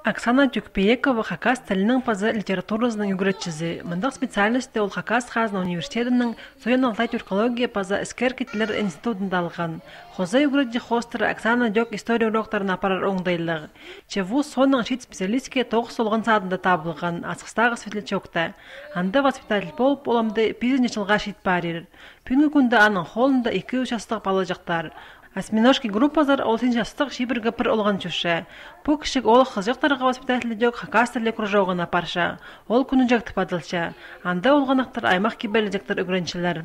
Оксана Тюкпеекова хакас тілінің пазы литературасының югретчизи. Мындық специальності ол хакас Хазна университетінің соян алтай тюркология пазы іскер кетілер институтында алған. Хоза югретчи хостыры Оксана Дёк история уроктарын апарар оңдайлығы. Чеву соның шит специалистке тоғыз олған садында табылған асқыстағы светлячокта. Анда воспитатель болып оламды 5 жылға шит барир. Пүнгі күнді аның холында 2 участық балажақтар. Осьминожки группазар олсин жастық шибіргі пір олған чүші. Бұл кішік олық қызжақтарға воспитателі дөк хакастерлі кружауғына парша. Ол күні жақты падылша. Анда олғанақтар аймақ кебелі жақтар үгіреншілер.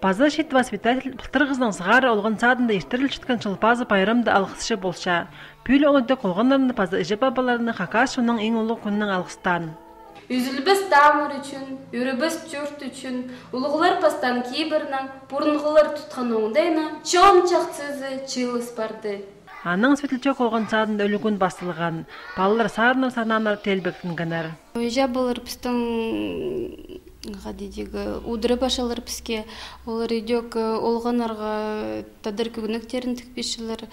Паза шит воспитатель пылтырғыздың сығары олған садында ештіріл шытқан шылпазы пайрамды алғысшы болша. Пүйлі олыды қолғандарында паза іжі бабаларының хакас шуның ең ұлы күнінің алғыстан. Үзілбіз тамыр үшін, үрібіз чөрт үшін, ұлығылар пастан кейбірінің бұрынғылар тұтқан оңдайына чом чақсызы чылыс барды. Аның светлячок олған садында өлігін басылған. Балалар сарынар сананар телбектін гінер. Ойжа болыр пістің удыры башалар піске, олар үйдек олғанарға тадыр күгініктерін тікпешілер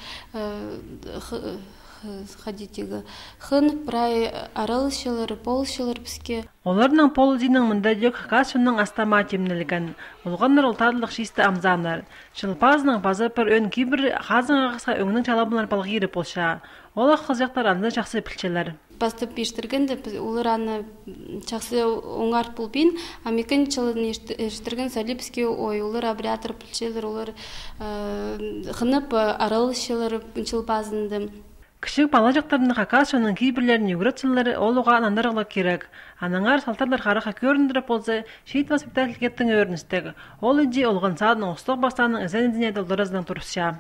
хын, прай аралышылар, полышылар піске. Оларның полудинің мұнда дөк хакас шының астама темнілген. Олғандар олтадылық шисті амзанар. Шылпазының базы пір өн кейбір хазың ағысқа өңінің чалабынар балғиры болша. Олақ қызяқтар анда жақсы пілчелер. Бастып ештіргенде олар аны жақсы оңар пұлбин, амекін чылын ештірген салипске ой, олар абриатор пілчелер, олар қынып аралышылар шылпазынды. Кішік бала жақтарының хакас шының кейбірлерін югретшілері ол оға анандарғылы керек. Анаңар салтарлар қарыға көріндіріп болса, шейт воспитатель кеттің өріністегі. Ол үйде олған садының ұстық бастаның ізен ізіне долдыразының тұрысша.